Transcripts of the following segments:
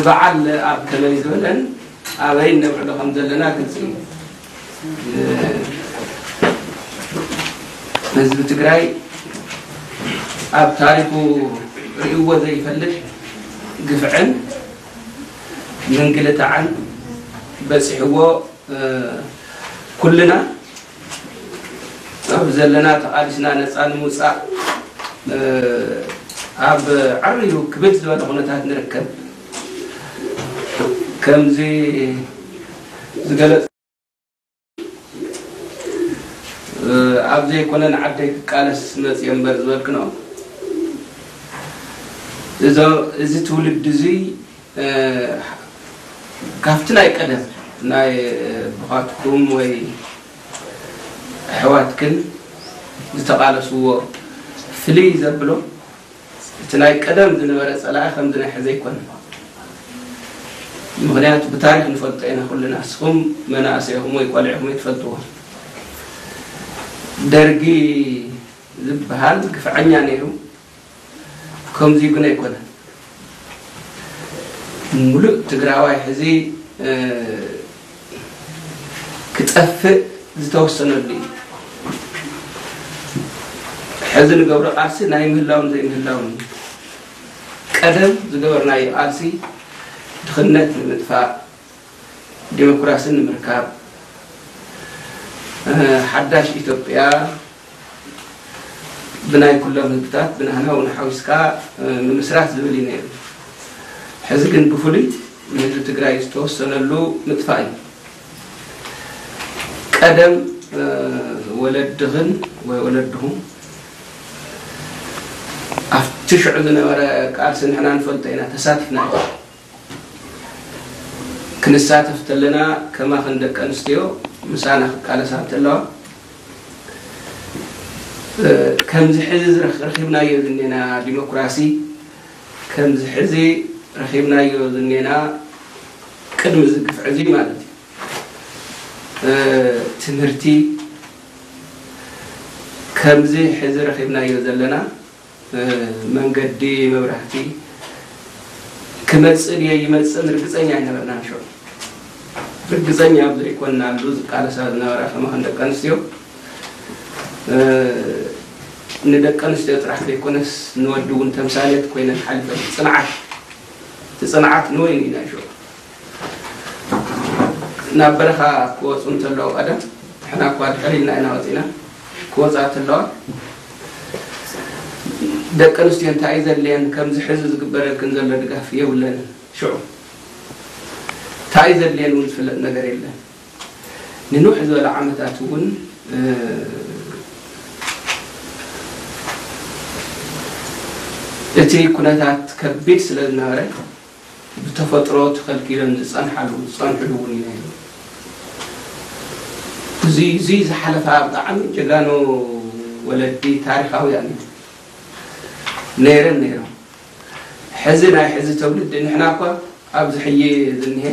በዓል ኣብ ከመይ ዝበለን ኣበይ ነብዕሎ ከም ዘለና ግልፂ እዩ። ህዝቢ ትግራይ ኣብ ታሪኹ ርእይዎ ዘይፈልጥ ግፍዕን ምንግልታዕን በፂሕዎ፣ ኩልና ኣብ ዘለና ተቓሊስና ነፃ ንምውፃእ ኣብ ዓርዩ ክብድ ዝበለ ኩነታት ንርከብ። ከምዚ ዝገለፅ ኣብ ዘይኮነ ንዓደይ ክቃለስ መፅየ እምበር ዝበልክኖ፣ እዚ ትውልድ እዚ ካብቲ ናይ ቀደም ናይ ኣቦኻትኩም ወይ ኣሕዋትክን ዝተቓለስዎ ፍልይ ዘብሎ፣ እቲ ናይ ቀደም ዝነበረ ፀላኢ ከምዚ ናይ ሕዚ ኣይኮነን። ምኽንያቱ ብታሪክ ንፈልጦ ኢና ኩልና። እስኹም መናእሰይኹም ወይ ቆልዕኹም ኣይትፈልጥዎ። ደርጊ ዝበሃል ግፍዐኛ ነይሩ። ከምዚ ግን ኣይኮነን። ሙሉእ ትግራዋይ ሕዚ ክጠፍእ ዝተወሰነሉ እዩ። ሕዚ ንገብሮ ቃልሲ ናይ ምህላውን ዘይምህላውን እዩ። ቀደም ዝገበርናዮ ቃልሲ ድኽነት ንምጥፋእ፣ ዲሞክራሲ ንምርካብ፣ ሓዳሽ ኢትዮጵያ ብናይ ኩሎም ህዝብታት ብናህና እውን ሓዊስካ ንምስራት ዝብል እዩ ነይሩ። ሕዚ ግን ብፍሉይ ንህዝቢ ትግራይ ዝተወሰነሉ ምጥፋእ እዩ። ቀደም ወለድኽን ወይ ወለድኹም ኣብቲ ሽዑ ዝነበረ ቃልሲ ንሕና ንፈልጦ ኢና፣ ተሳቲፍና ኢና። ክንሳተፍ ተለና ከማኽን ደቂ ኣንስትዮ ምሳና ክቃለሳ እንተለዋ፣ ከምዚ ሕዚ ረኺብናዮ ዝኔና ዲሞክራሲ፣ ከምዚ ሕዚ ረኺብናዮ ዝኔና ቅድሚ እዚ ግፍዒ እዚ ማለት እዩ፣ ትምህርቲ፣ ከምዚ ሕዚ ረኺብናዮ ዘለና መንገዲ፣ መብራህቲ ክመፅእ ድዮ ይመፅእን ርግፀኛ ኣይነበርናን። ሽዑ ርግፀኛ ኣብ ዘይኮንናሉ ዝቃለሳ ዝነበራ ከማኸን ደቂ ኣንስትዮ፣ ንደቂ ኣንስትዮ ጥራሕ ዘይኮነስ ንወዲ እውን ተምሳሌት ኮይነን ሓሊፈን። ፅንዓት፣ እቲ ፅንዓት ንወይኒ ኢና ሽዑ። ናብ በረኻ ክወፁ እንተለዉ፣ ቀደም ንሕና እኳ ድሕር ኢልና ኢና ወፂና፣ ክወፃ እንተለዋ ደቂ ኣንስትዮ እንታይ እዩ ዘድልየን፣ ከምዚ ሕዚ ዝግበረልክን ዘሎ ድጋፍ የብለንን። ሽዑ እንታይ እዩ ዘድልየን እውን ዝፍለጥ ነገር የለን። ንንውሕ ዝበለ ዓመታት እውን እቲ ኩነታት ከቢድ ስለ ዝነበረ፣ ብተፈጥሮ ተኸልኪለን ዝፀንሓሉ ዝፀንሕሉ እውን እዩ ነይሩ። እዚ እዚ ዝሓለፋ ብጣዕሚ ጀጋኑ ወለዲ ታሪኻውያን እዩ ነይረን ነይሮም። ሕዚ ናይ ሕዚ ተውልዲ ንሕና እኳ ኣብዚ ሕጂ ዝኒሄ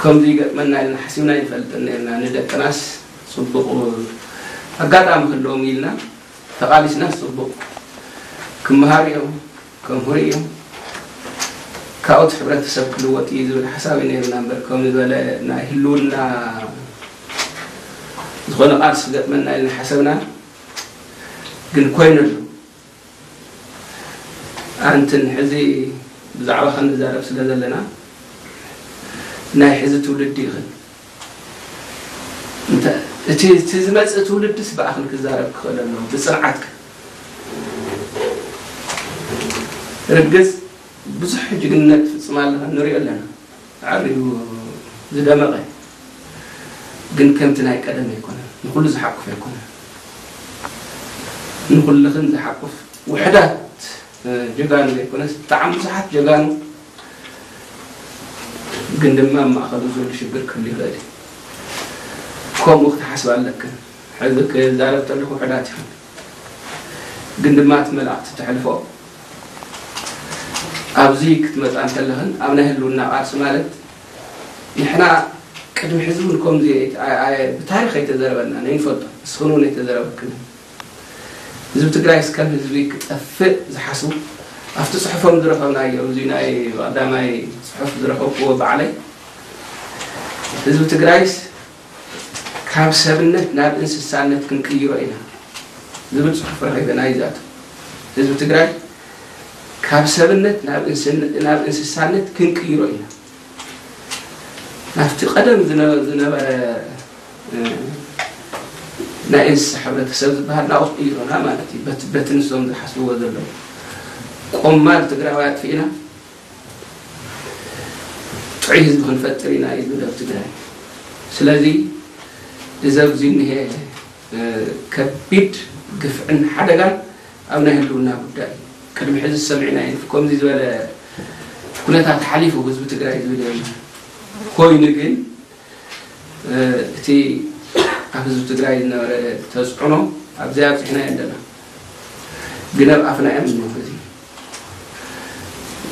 ከምዚ ይገጥመና ኢልና ሓሲብና ይንፈልጥን ነርና። ንደቅናስ ፅቡቕ ኣጋጣሚ ክህልዎም ኢልና ተቓሊስናስ ፅቡቕ ክመሃሩ እዮም፣ ከምህሩ እዮም፣ ካብኡት ሕብረተሰብ ክልወጥ እዩ ዝብል ሓሳብ እዩ ነርና እምበር፣ ከምዚ ዝበለ ናይ ህልውና ዝኾነ ቃልሲ ክገጥመና ኢልና ሓሰብና። ግን ኮይኑ ኣሎ። ኣንትን ሕዚ ብዛዕባኽን ንዛረብ ስለ ዘለና፣ ናይ ሕዚ ትውልዲ ኢኽን። እንተ-፣ እቲ፣ እቲ ዝመጽእ ትውልድስ ብኣኽን ክዛረብ ክኽእል ኣለዎ፣ ብጽንዓትክን። ርግጽ ብዙሕ ጅግንነት ትፍጽማ ኣለኽን፣ ንሪኦ ኣለና። ዓብዩ ዝደመቐ፣ ግን ከምቲ ናይ ቀደም ኣይኮነን፣ ንኹሉ ዝሓቁፍ ኣይኮነን። ንኹልኽን ዝሓቁፍ ውሕዳት፣ እ፣ ጀጋኑ ዘይኮነስ፣ ብጣዕሚ ብዙሓት ጀጋኑ፣ ግን ድማ ኣብ ማእኸሉ ዘሎ ሽግር ክህሉ ይኽእል እዩ። ከምኡ ክትሓስብ ኣለክን። ሕዚ ክዛረብ ከለኹ ውሕዳት ኢኽን፣ ግን ድማ እቲ መልእኽቲ ተሕልፎ ኣብዚ ክትመጻ እንከለኽን፣ ኣብ ናይ ህልውና ቃልሲ ማለት፣ ንሕና ቅድሚ ሕዚ እውን ከምዚ ኣይ-፣ ኣይ-፣ ብታሪኽ ኣይተዘረበናን፣ ኣይንፈልጦን። ንስኽን እውን ኣይተዘረበክንን። ህዝቢ ትግራይስ ከም ህዝቢ ክጠፍእ ዝሓስቡ ኣብቲ ጽሑፎም ዝረኸብናዮ፣ እዚ ናይ ቀዳማይ ጽሑፍ ዝረኸብክዎ ባዕለይ፣ ህዝቢ ትግራይስ ካብ ሰብነት ናብ እንስሳነት ክንቅይሮ ኢና ዝብል ጽሑፍ ረኺበ። ናይዛቱ ህዝቢ ትግራይ ካብ ሰብነት ናብ እንስን-፣ ናብ እንስሳነት ክንቅይሮ ኢና። ናብቲ ቀደም ዝነ-፣ ዝነበረ፣ እ፣ ናይ እንስሳ ሕብረተሰብ ዝበሃል ናብኡ ቀይሮና ማለት እዩ። በት-፣ በቲ ንሶም ዝሓስብዎ ዘለዉ ቆማል ትግራዋይ ኣጥፊእና ጥዑይ ህዝቢ ክንፈጥር ኢና እዩ ዝብል ኣብ ትግራይ። ስለዚ እዚ ኣብዚ እኒሄ፣ እ፣ ከቢድ ግፍዕን ሓደጋን ኣብ ናይ ህልውና ጉዳይ እዩ። ቅድሚ ሕዚ ዝሰምዕና እዩ። ከምዚ ዝበለ ኩነታት ሓሊፉ ህዝቢ ትግራይ ዝብል የለን። ኮይኑ ግን፣ እ፣ እቲ ኣብ ህዝቢ ትግራይ ዝነበረ ተፅዕኖ ኣብዚ ኣብፂሕና ኣለና። ግን ኣብ ኣፍና እዮም እንሆ። እዚ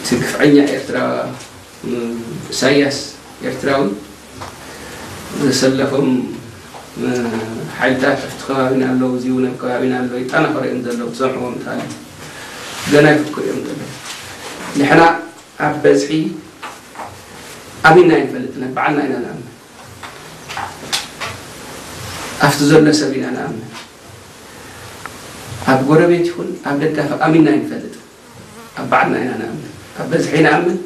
እቲ ግፍዐኛ ኤርትራ፣ እ፣ ኢሳያስ ኤርትራዊ ዘሰለፎም፣ እ፣ ሓይልታት ኣብቲ ከባቢና ኣለዉ፣ እዚ እውን ኣብ ከባቢና ኣለዉ፣ ይጠናኸሩ እዮም ዘለዉ። ትሰምዕዎም እንተሃልዩ ገና ይፍክሩ እዮም ዘለዉ። ንሕና ኣብ በዝሒ ኣሚንና ኣይንፈልጥን፣ ኣብ ባዕልና ኢና ንኣምን። ኣብቲ ዘሎ ሰብ ኢና ንኣምን። ኣብ ጎረቤት ይኹን ኣብ ደጋፊ ኣሚንና ኣይንፈልጥን፣ ኣብ ባዕልና ኢና ንኣምን። ኣብ በዝሒ ንኣምን፣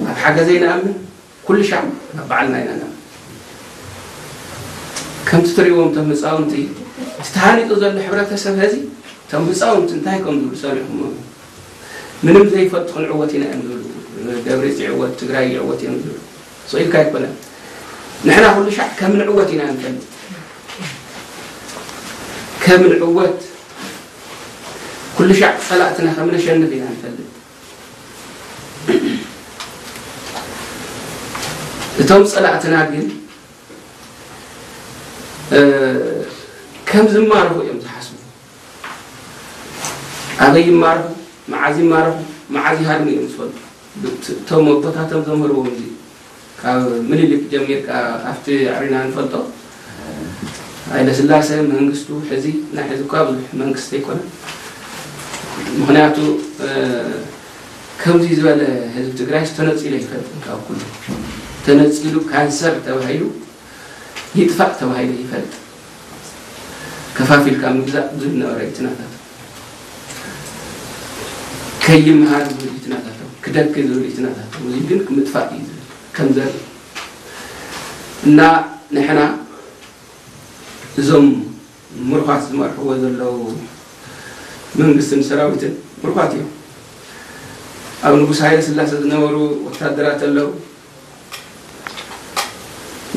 ኣብ ሓገዘይ ንኣምን፣ ኩሉ ሻዕ ኣብ ባዕልና ኢና ንኣምን። ከምቲ ትርእይዎም እቶም ህፃውንቲ፣ እቲ ተሃኒፁ ዘሎ ሕብረተሰብ ሀዚ፣ እቶም ህፃውንቲ እንታይ ከም ዝብሉ ሰሚዕኹምዎም? ምንም ዘይፈልጡ ክንዕወት ኢና እዮም ዝብሉ። ደብሪፅ ይዕወት፣ ትግራይ ይዕወት እዮም ዝብሉ። ስቕ ኢልካ ኣይኮነን። ንሕና ኩሉ ሻዕ ከም ንዕወት ኢና ንፈልጥ። ከም ንዕወት፣ ኩሉ ሻዕ ፀላእትና ከም ነሸንፍ ኢና ንፈልጥ። እቶም ፀላእትና ግን፣ እ፣ ከም ዝማረኹ እዮም ዝሓስቡ። ኣበይ ይማረኹ፣ መዓዝ ይማረኹ፣ መዓዝ ይሃድሙ እዮም ዝፈልጡ። እቶም ኣቦታቶም ዘምህርዎም እዚ ካብ ምኒልክ ጀሚርካ ኣብቲ ኣዕሪና ንፈልጦ። ሃይለስላሴ መንግስቱ ሕዚ፣ ናይ ሕዚ እኳ ብዙሕ መንግስቲ ኣይኮነን። ምኽንያቱ፣ እ፣ ከምዚ ዝበለ ህዝቢ ትግራይ ተነፂሉ ኣይፈልጥን። ካብ ኩሉ ተነፂሉ ካንሰር ተባሂሉ ይጥፋእ ተባሂሉ ይፈልጥ። ከፋፊልካ ምግዛእ ዝብል ነበረ እዩ እቲ ናታቶም። ከይምሃር ዝብል እዩ እቲ ናታቶም። ክደኪ ዝብል እዩ እቲ ናታቶም። እዚ ግን ምጥፋእ እዩ ዝብል ከም ዘርኢ። እና ንሕና እዞም ምሩኻት ዝመርሕዎ ዘለዉ መንግስትን ሰራዊትን ምሩኻት እዮም። ኣብ ንጉስ ሃይለ ስላሴ ዝነበሩ ወታደራት ኣለዉ።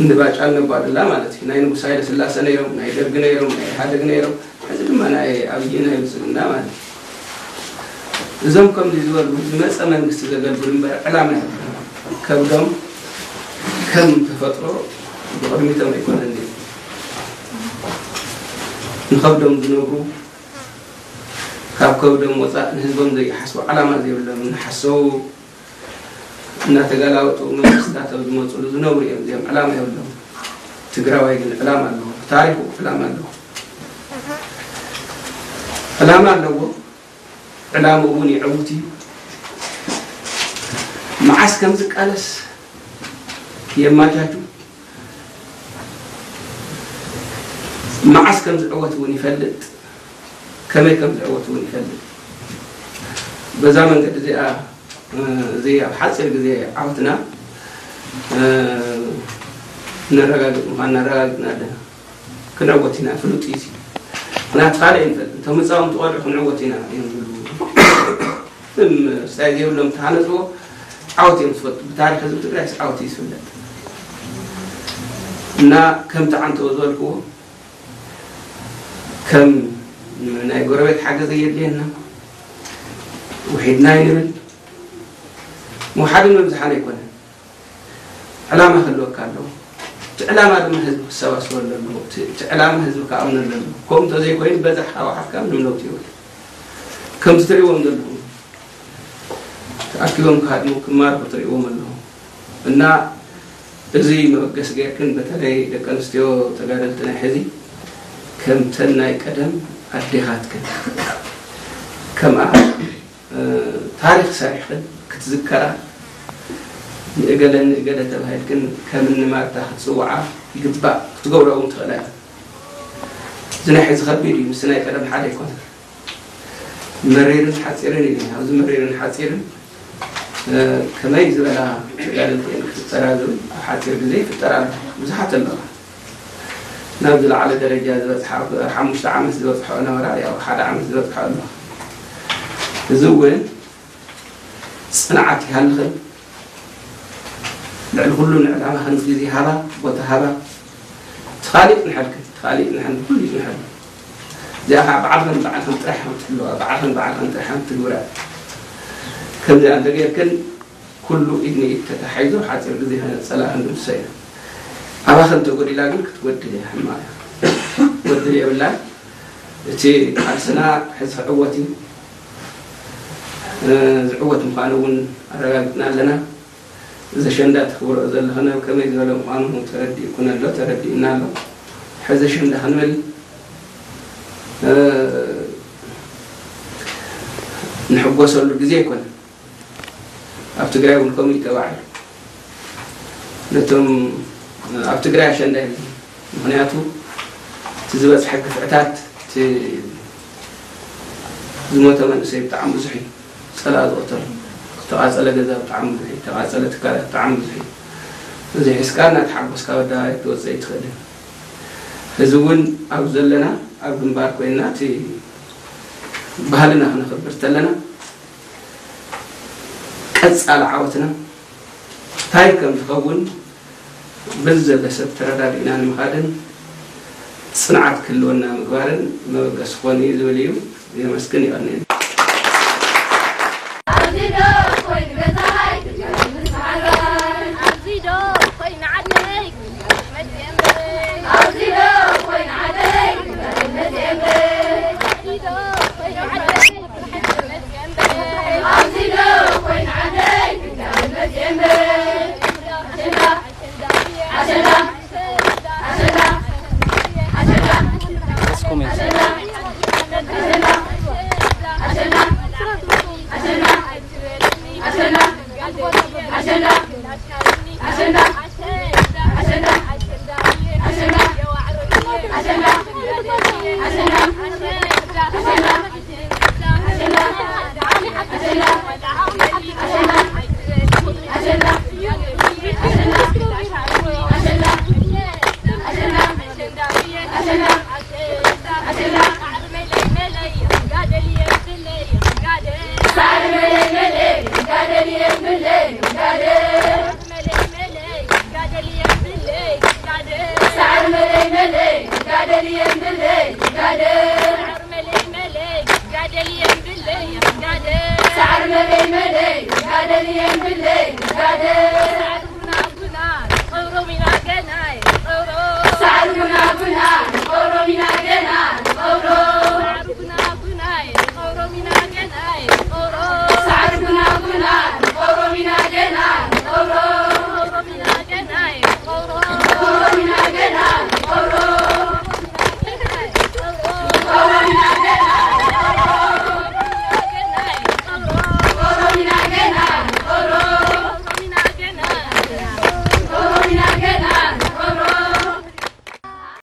እንባጫ እነባዱላ ማለት እዩ። ናይ ንጉስ ሃይለ ስላሴ ነይሮም፣ ናይ ደርግ ነይሮም፣ ናይ ኢህኣደግ ነይሮም፣ ሕዚ ድማ ናይ ኣብይ ናይ ብልፅግና ማለት እዩ። እዞም ከምዚ ዝበሉ ዝመፀ መንግስቲ ዘገልግሉ እምበር ዕላማ የብሎም። ከብዶም ከም ተፈጥሮ ብቕድሚቶም ኣይኮነን ድዩ? ንኸብዶም ዝነብሩ፣ ካብ ከብዶም ወፃእ ንህዝቦም ዘይሓስቡ፣ ዕላማ ዘይብሎም፣ እናሓሰቡ እናተገላበጡ መንግስታት ኣብ ዝመፅሉ ዝነብሩ እዮም። እዚኦም ዕላማ የብሎም። ትግራዋይ ግን ዕላማ ኣለዎ። ታሪኹ ዕላማ ኣለዎ። ዕላማ ኣለዎ። ዕላምኡ እውን የዕውት እዩ። መዓስ ከም ዝቃለስ የማቻቹ፣ መዓስ ከም ዝዕወት እውን ይፈልጥ፣ ከመይ ከም ዝዕወት እውን ይፈልጥ። በዛ መንገዲ እዚኣ፣ እ፣ እዚ ኣብ ሓፂር ግዜ ዓወትና፣ እ፣ ነረጋግፅ ምዃንና ኣረጋጊፅና ኣለና። ክንዕወት ኢና፣ ፍሉጥ እዩ። ምኽንያቱ ካልእ ኣይንፈልጥን። እቶም ህፃውንቲ ቆልዑ ክንዕወት ኢና እዮም ዝብሉ። ምንም ስታይ ዘይብሎም ተሃነፅዎ ዓወት እዮም ዝፈልጡ። ብታሪክ ህዝቢ ትግራይስ ዓወት እዩ ዝፍለጥ። እና ከምቲ ዓንተቦ ዝበልክዎ፣ ከም ናይ ጎረቤት ሓገዝ ኣየድልየና፣ ውሒድና ኣይንብል። ምውሓድን ምብዝሓን ኣይኮነን። ዕላማ ክህልወካ ኣለዎ። እቲ ዕላማ ድማ ህዝቢ ክሰባስበሉ ኣለዎ። እቲ፣ እቲ ዕላማ ህዝቢ ክኣምነሉ ኣለዎ። ከምኡ እንተዘይኮይኑ በዛሕ ካብ ወሓድካ ምንም ለውጢ የብሉን። ከምዚ ትርእይዎም ዘለኹም ተኣኪቦም ክሃድሙ ክማርኹ ትርእይዎም ኣለኹም። እና እዚ መበገሲ ጌርክን በተለይ ደቂ ኣንስትዮ ተጋደልቲ ናይ ሕዚ ከምተን ናይ ቀደም ኣዴታትክን ከምኣ ታሪኽ ሰሪሕክን ክትዝከራ፣ ንእገለ ንእገለ ተባሂልክን ከም እኒ ማርታ ክትጽውዓ ይግባእ፣ ክትገብርኦ እውን ትኽእላ ኢኹም። እዚ ናይ ሕዚ ከቢድ እዩ፣ ምስ ናይ ቀደም ሓደ ኣይኮነን። መሪርን ሓጺርን እዩ። ኣብዚ መሪርን ሓጺርን ከመይ ዝበላ ተጋደልቲ እየን ክፍጠራ ዝብል ኣብ ሓጺር ግዜ ይፍጠራ ኣሎ። ብዙሓት ኣለዋ ናብ ዝለዓለ ደረጃ ዝበፅሓ። ሓሙሽተ ዓመት ዝበፅሖ ነበራ፣ ያው ሓደ ዓመት ዝበፅሖ ኣሎ። እዚ እውን ፅንዓት ይሃልኽን፣ ልዕሊ ኩሉ ንዕላማኽን ግዜ ሃባ፣ ቦታ ሃባ። ትኻሊእ ንሓልክን ትኻሊእ ንሓልክን ኩሉ እዩ ንሓልክን። እዚኣ ከዓ ባዕልኽን ባዕልኽን ጥራሕ ከም ትሕልዋ፣ ባዕልኽን ባዕልኽን ጥራሕ ከም ትግብራ። ከምዚኣ እንተጌርክን ኩሉ ኢድ ንኢድ ተተሓሒዙ ሓፂር ግዜ ከነፀላ ክንድምስሶ ኢና። ኣባኽን ተጎዲላ ግን ክትጎድል እያ፣ ሕማቕ እያ። ክትጎድል የብላን። እቲ ቃልስና ሕዚ ክዕወት እዩ። ዝዕወት ምዃኑ እውን ኣረጋጊፅና ኣለና። እዚ ኣሸንዳ ተኽብሮ ዘለኽን ኣብ ከመይ ዝበለ ምዃኑ ተረዲእኩን ኣሎ፣ ተረዲእና ኣሎ። ሕዚ ኣሸንዳ ክንብል ንሕጎሰሉ ግዜ ኣይኮነን። ኣብ ትግራይ እውን ከምኡ እዩ ተባሂሉ። ነቶም ኣብ ትግራይ ኣሸንዳ የለን። ምኽንያቱ እቲ ዝበፅሐ ግፍዕታት፣ እቲ ዝሞተ መንእሰይ ብጣዕሚ ብዙሕ እዩ። ፀላኢ ዝቐተሉ፣ ዝተቓፀለ ገዛ ብጣዕሚ ብዙሕ እዩ። ዝተቓፀለ ትካላት ብጣዕሚ ብዙሕ እዩ። እዚ ሒዝካ እናተሓጎስካ ኣብ ኣደባባይ ክትወፅእ ኣይትኽእልን። ሕዚ እውን ኣብ ዘለና ኣብ ግንባር ኮይንና እቲ ባህልና ክነኽብር ተለና ቀፃሊ ዓወትና እንታይ ከም ዝኸውን በዚ ዘሎ ሰብ ተረዳዲእና ንምኻድን ፅንዓት ክህልወና ምግባርን መበገሲ ክኾን እዩ ዝብል እዩ። የመስግን። ይቐንየን። ኣብዚ ዶ ኮይኑ ገዛይ? ኣብዚ ዶ ኮይኑ ዓደይ? ኣብዚ ዶ ኮይኑ ዓደይ? ኣብዚ ዶ ኮይኑ ዓደይ?